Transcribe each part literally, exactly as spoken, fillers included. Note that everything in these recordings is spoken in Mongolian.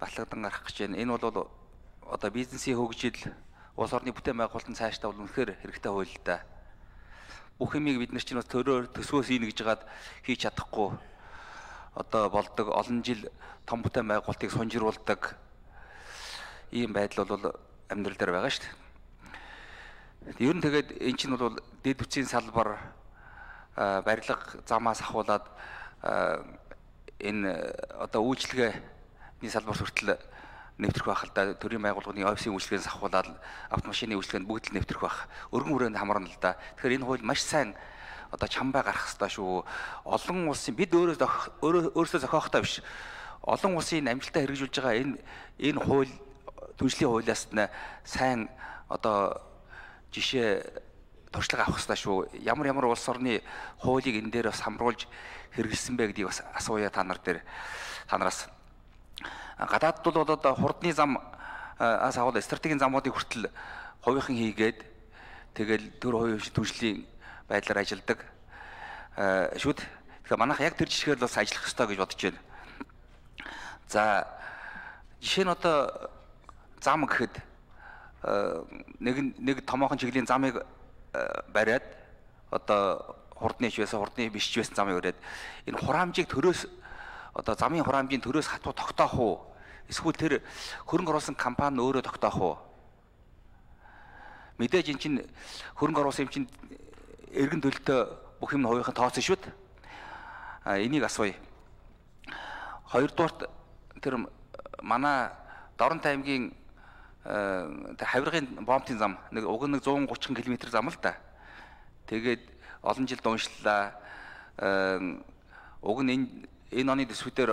батлагдсан гарах гэж байна. Энэ бол одоо бизнесийн хөгжил, улс орны бүтээн байгуулалтын цаашдаа бол үнэхээр хэрэгтэй хууль л да. Бүх юмыг бид нар чинь бас төрөөр төсвөөс ийн гэж жагаад хийж чадахгүй. Одоо болдог олон жил том бүтээн байгуулалтыг сунжруулдаг ийм байдал бол амьдрал дээр байгаа шүү дээ. Ер нь тэгээд эн чинь бол дэд үтсийн салбар барилга замаас ахуулаад энэ одоо үйлчлэгээний салбар хүртэл нэвтрэх байх л да. Төрийн байгууллагын офисын үйлчлэгээс ахуулаад автомашины үйлчлэгэнд бүгд л нэвтрэх байх. Өргөн хүрээнд хамарна л да. Тэгэхээр энэ хууль маш сайн одоо чамбай гарах хэрэгтэй шүү. Олон улсын бид өөрөө өөрөөсөө зохиохтой биш. Олон улсын амжилтаа хэрэгжүүлж байгаа энэ энэ хууль түншлэлийн хуулиас нь сайн одоо жишээ туршлага авах хэрэгтэй шүү. Ямар ямар улс орны хуулийг энэ дээр бас хамруулж хэрэгжилсэн бэ гэдгийг бас асууя та нар дээр та нараас. Гадаадд бол одоо хурдны зам аас аваад стратегийн замуудыг хүртэл хувийнхан хийгээд тэгэл төр хувийн түншлийн байдлаар ажилладаг шүүд. Тэгэхээр манайх яг тэр жишгээр л бас ажиллах ёстой гэж бодож байна. За жишээ нь одоо зам гэхэд нэг нэг томоохон чиглийн замыг бариад одоо хурдны ч байсан хурдны биш ч байсан замыг бариад энэ хураамжийг төрөөс одоо замын хураамжийн төрөөс хатуу тогтоох уу? Эсвэл тэр хөрөнгө оруулсан компани өөрөө тогтоох уу? Мэдээж эн чинь хөрөнгө оруулсан юм чинь эргэн төлөлтөө бүх юм хувийнхан тооцсон шүү дээ. А энийг асууя. Хоёрдугаарт тэр манай Доронтой аймгийн хавиргын бомбын зам нэг уг нэг зуун гучин км зам л да. Тэгээд олон жил уншлаа. Уг нь энэ энэ оны төсвүүдээр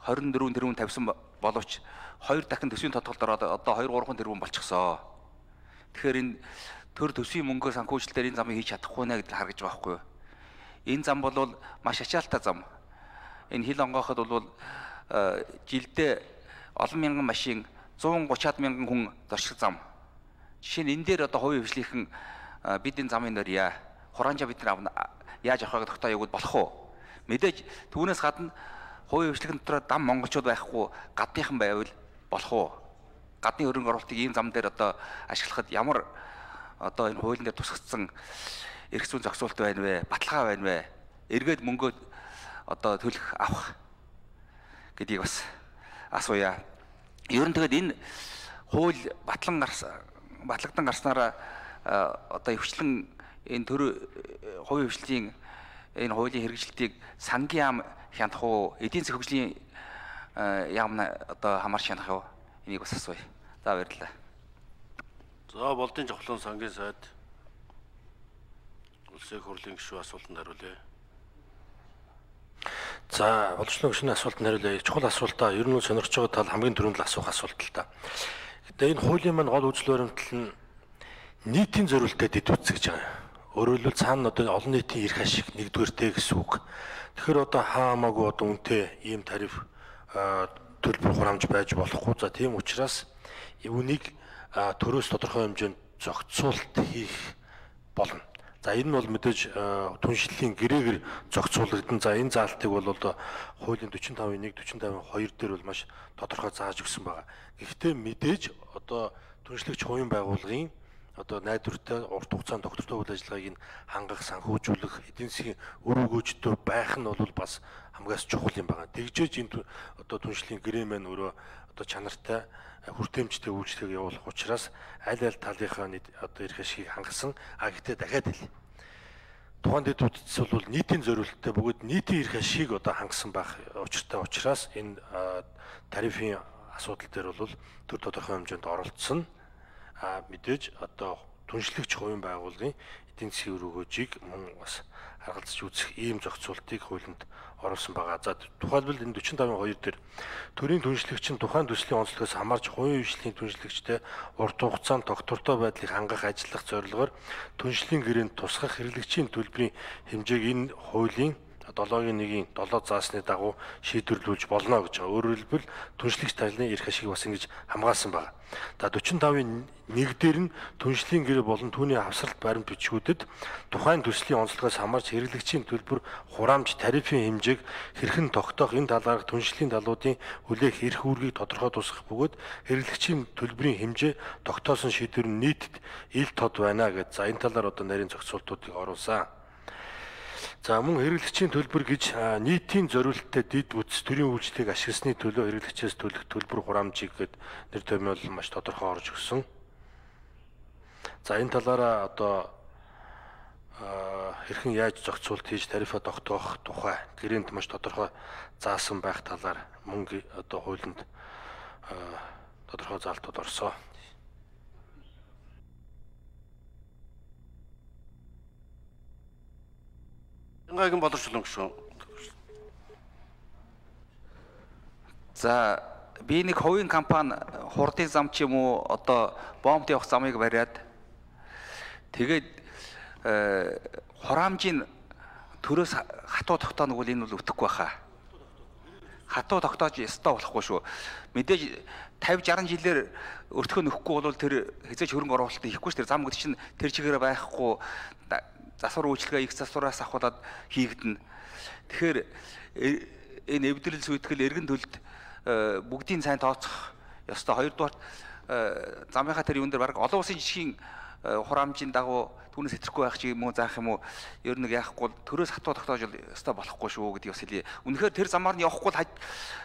хорин дөрвөн тэрбум тавьсан боловч хоёр дахин төсвийн тодголд ороод одоо хоёр гурван тэрбум болчихсон. Тэгэхээр энэ төр төсвийн мөнгөөр санхүүжилтээр энэ замыг хийж чадахгүй нэ гэдгийг харгаж байгаа байхгүй юу? Энэ зам бол маш ачаалттай зам. Энэ хил онгооход бол жилдээ олон мянган машин зуун гучаад мянган хүн зорчих зам. Жишээ нь энэ дээр одоо хувийн хвшлийнхэн бид энэ замын дээр яа хураанжаа бид нар яаж авах вэ тогтоо явуул болох уу? Мэдээж түүнээс гадна хувийн хвшлийнхэн дотор дам монголчууд байхгүй гадныхан байвал болох уу? Гадны хөрөнгө оруулалтыг ийм зам дээр одоо ашиглахад ямар одоо энэ хуулийн дээр тусгацсан эрх зүйн зохицуулт байна вэ? Баталгаа байна вэ? Эргээд мөнгөө одоо төлөх авах гэдгийг бас асууя. Ер нь тэгээд энэ хууль батлан гарсан батлагдсан гарснараа одоо өвчлэн энэ төр хувийн хвшлийн энэ хуулийн хэрэгжилтийг сангийн яам хянах уу? Эдийн засгийн хөгжлийн яам одоо хамаарч хянах уу? Энийг бас асууя. За баярлалаа. За болдын жавхлан сангийн сайд улсын хурлын гишүүн асуултанд хариулъя. За олончлон гишүүний асуултанд хариулъя. Чухал асуултаа ер нь сонирхож байгаа тал хамгийн түрүүнд л асуух асуулт л та. Гэтэ энэ хуулийн маань гол үзэл баримтлал нь нийтийн зориулалтад идэвхтэй гэж байгаа. Өөрөөр хэлбэл цаана одоо олон нийтийн эрх ашиг нэгдүгээртэй гэсэн үг. Тэгэхээр одоо хаамаагүй одоо үнэтэй ийм тариф төлбөр хураамж байж болохгүй. За тийм учраас үүнийг төрөөс тодорхой хэмжээнд зохицуулалт хийх болно. За энэ нь бол мэдээж түншлэлийн гэрээгээр зохицуулагдсан. За энэ заалтыг бол одоо хуулийн45-ын нэг,45-ын хоёр дээр бол маш тодорхой зааж өгсөн байгаа. Гэхдээ мэдээж одоо түншлэгч хувийн байгууллагын одоо найдвартай урт хугацаанд доктортой үйл ажиллагааг нь хангах, санхүүжүүлэх, эдийн засгийн үр өгөөжтэй байх нь бол бас хамгаас чухал юм байна. Тэгжээж энэ одоо түншлэлийн гэрээ маань өөрөө одоо чанартай хүртээмжтэй үйлчлэг явуулах учраас аль аль талынхаа одоо эрх ашгийг хангасан. А гэхдээ дахиад хэл. Тухайн дэд үтц бол нийтийн зориулалттай бөгөөд нийтийн эрх ашгийг одоо хангасан байх учиртай учраас энэ тарифын асуудал дээр бол төр тодорхой хэмжээнд оролцсон. А мэдээж одоо түншлэгч хувийн байгууллагын эдийн засгийн үр өгөөжийг мөн бас харгалзаж үзэх ийм зохицуултыг хуулинд оруулсан байгаа. За тухайлбал энэ45-ын хоёр дээр төрийн түншлэгч нь тухайн төслийн онцлогоос хамаарч хувийн хвшлийн түншлэгчтэй урт хугацаанд доктортой байдлыг хангах ажиллах зорилгоор түншлийн гэрээнд тусгах хэрэглэгчийн төлбөрийн хэмжээг энэ хуулийн долоогийн нэгийн долоо заасны дагуу шийдвэрлүүлж болно гэж байгаа. Өөрөөр хэлбэл түншлэгч талын эрх ашиг бас ингэж хамгаалсан байна. За forty-five нэг дээр нь түншлийн гэр болон түүний хавсралт баримт бичгүүдэд тухайн төслийн онцлогоос хамаарч хэрэглэгчийн төлбөр хураамж тарифын хэмжээг хэрхэн тогтоох энэ талаарх түншлийн далуудын хүлээх эрх үүргийг тодорхой тусгах бөгөөд хэрэглэгчийн төлбөрийн хэмжээ тогтоосон шийдвэр нь нийтэд ил тод байна гэж. За энэ талаар одоо нарийн зохицуултуудыг оруулсан. За мөн хэрэглэгчийн төлбөр гэж нийтийн зориулалттай дэд бүтц төрийн үйлчлэгийг ашигласны төлөө хэрэглэгчээс төлөх төлбөр хураамжийг гээд нэр томьёол маш тодорхой орж өгсөн. За энэ талаараа одоо хэрхэн яаж зохицуулт хийж тарифа тогтоох тухай гэрээнд маш тодорхой заасан байх талаар мөн одоо хуулинд тодорхой заалтууд орсон. Янгагийн боловсруулан гүшүүн. За би нэг хувийн компани хурдын зам ч юм уу одоо бомбд явах замыг бариад тэгээд хураамжийн төрөөс хатуу тогтооно бол энэ бол өтөхгүй байхаа. Хатуу тогтоож ёстой болохгүй шүү. Мэдээж fifty sixty жилээр өртгөө нөхгүй бол тэр хязгаарч хөрөнгө оруулалт хийхгүй шүү. Тэр зам гэдэг чинь тэр чигээр байхгүй засвар үйлчлэгээ их засвараас авахулаад хийгдэнэ. Тэгэхээр энэ эвдрэл сүйтгэл эргэн төлөлд бүгдийн сайн тооцох ёстой. Хоёрдугаар замынхаа тэр юун дээр баг олон улсын жишгийн хураамжийн дагуу түүнээс хэтрэхгүй байх чи юм уу заах юм уу ер нь яахгүй төрөөс хатуу тогтоож ёстой болохгүй шүү гэдгийг бас хэлье. Үнэхээр тэр замаар нь явахгүй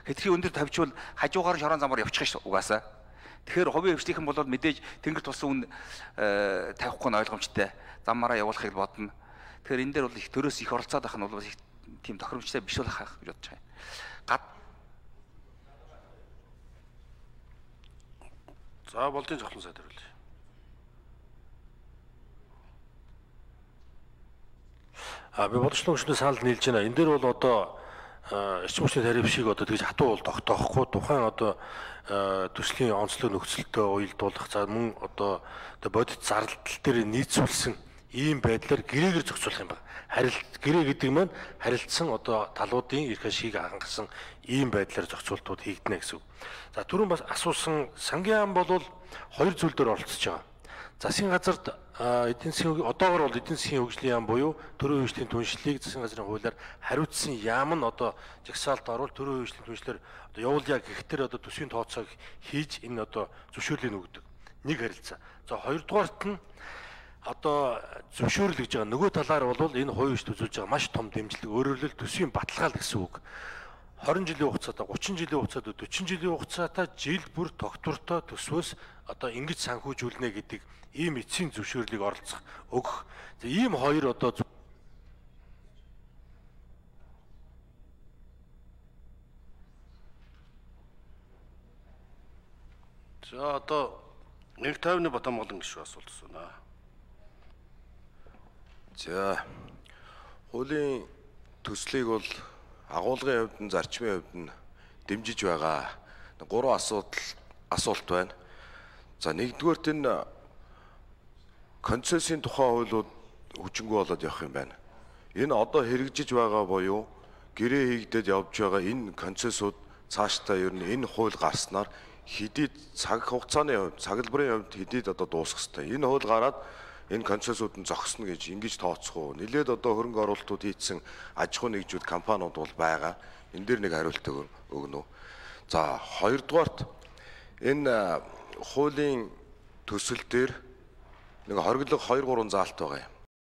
хэтэрхий өндөр тавьчвал хажуугаар шорон замаар явчих ш угаасаа. Тэгэхээр хувийн хвшлийнхэн бол мэдээж тэнгэр тусан үн тавихгүй нь ойлгомжтой. Замаараа явуулахыг бодно. Тэгэхээр энэ дээр бол их төрөөс их оролцоод байх нь бол их тийм тохиромжтой биш болох гэж бодож байна. Гад За болдын зохлон сайд хариулъя. А би бодлогын гүшүүнээс санал нийлж байна. Энэ дээр бол одоо эрчим хүчний тариф шиг одоо тэгж хатуу бол тогтоохгүй тухайн одоо төслийн онцлог нөхцөлтөө уялдуулах за мөн одоо бодит зардал дээр нийцүүлсэн ийм байдлаар гэрээгээр зохицуулах юм байна. Харилт гэрээ гэдэг маань харилцсан одоо талуудын эрх ашигыг хангасан ийм байдлаар зохицуултууд хийгдэнэ гэсэн үг. За түрүүн бас асуусан сангийн ам бол хоёр зүйл дээр оролцож байгаа. Засгийн газарт эдийн засгийн одоогор бол эдийн засгийн хөгжлийн яам буюу төрийн хөгжлийн түншлэлийг засгийн газрын хуулиар хариуцсан яам нь одоо жагсаалт оруул төрийн хөгжлийн түншлэлээр одоо явуулъя гэхтэр одоо төсвийн тооцоог хийж энэ одоо зөвшөөрлийг өгдөг. Нэг харилцаа. За хоёрдугаарт нь одоо зөвшөөрөл гэж байгаа нөгөө талаар бол энэ хувийн хөгжил үзүүлж байгаа маш том дэмжлэг өөрөөр хэлбэл төсвийн баталгаал гэсэн үг. twenty жилийн хугацаатай thirty жилийн хугацаатай forty жилийн хугацаатай жил бүр тогтвортой төсвөөс одоо ингэж санхүүжүүлнэ гэдэг ийм эцсийн зөвшөөрлийг оролцох өгөх. Ийм хоёр одоо За одоо one fifty-ны Батамгалан гишүүн асуулт асууна. За хуулийн төслийг бол агуулгын хувьд нь зарчмын хувьд нь дэмжиж байгаа. Гурван асуудал асуулт байна. За нэгдүгээрт энэ концессийн тухай хуулиуд хүчингү болоод явах юм байна. Энэ одоо хэрэгжиж байгаа буюу гэрээ хийгдээд явж байгаа энэ концессууд цаашдаа ер нь энэ хууль гарснаар хэдий цаг хугацааны хувьд, цаглбарын хувьд хэдий одоо дуусах ёстой. Энэ хууль гараад энэ концессууд нь зогсно гэж ингэж тооцох уу? Нилээд одоо хөрөнгө оруулалтууд хийсэн аж ахуй нэгжүүд компаниуд бол байгаа. Энэ дээр нэг хариулт өгнө үү? За хоёрдугаарт энэ хуулийн төсөл дээр нэг хориглог two three заалт байгаа юм.